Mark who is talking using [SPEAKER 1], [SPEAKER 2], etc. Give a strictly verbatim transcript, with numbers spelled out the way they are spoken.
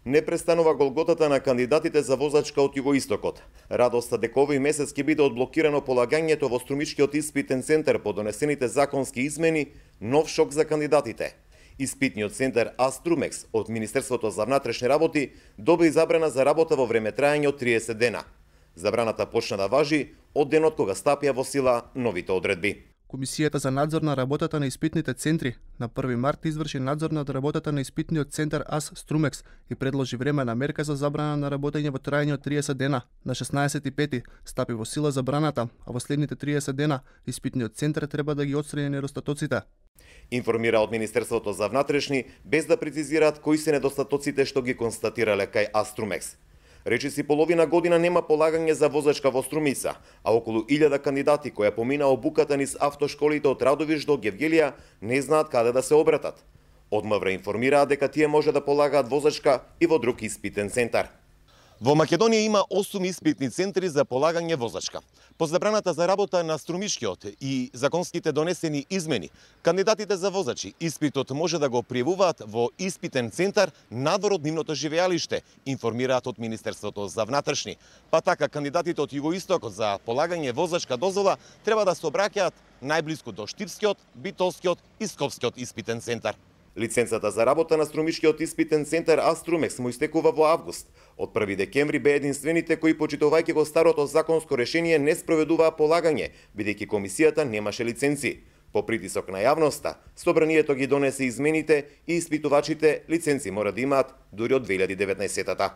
[SPEAKER 1] Не престанува голготата на кандидатите за возачка од југоистокот. Радоста дека овој месец ќе биде одблокирано полагањето во Струмичкиот испитен центар по донесените законски измени, нов шок за кандидатите. Испитниот центар Аструмекс од Министерството за внатрешни работи доби забрана за работа во време трајање од триесет дена. Забраната почна да важи од денот кога стапија во сила новите одредби.
[SPEAKER 2] Комисијата за надзор на работата на испитните центри на први март изврши надзор над работата на испитниот центар АС Струмекс и предложи времена мерка за забрана на работење во трајање од триесет дена. На шеснаесет и пети стапи во сила забраната, а во следните триесет дена испитниот центар треба да ги отстрани недостатоците.
[SPEAKER 1] Информира од Министерството за внатрешни, без да прецизираат кои се недостатоците што ги констатирале кај Аструмекс. Речиси половина година нема полагање за возачка во Струмица, а околу илјада кандидати кои помина обуката низ автошколите од Радовиш до Гевгелија не знаат каде да се обратат. Од МВР информираат дека тие може да полагаат возачка и во друг испитен центар. Во Македонија има осум испитни центри за полагање возачка. По забраната за работа на Струмишкиот и законските донесени измени, кандидатите за возачи испитот може да го пријавуваат во испитен центар надвор од нивното живеалиште, информираат од Министерството за внатрешни. Па така, кандидатите од југоистокот за полагање возачка дозвола треба да се обраќаат најблиску до Штипскиот, Битолскиот и Скопскиот испитен центар. Лиценцата за работа на Струмишкиот испитен центар Аструмекс му истекува во август. Од први декември бе единствените кои, почитувајќи го старото законско решение, не спроведуваа полагање, бидејќи комисијата немаше лиценци. По притисок на јавноста, собранието ги донесе измените и испитувачите лиценци мора да имаат дури од две илјади и деветнаесетта.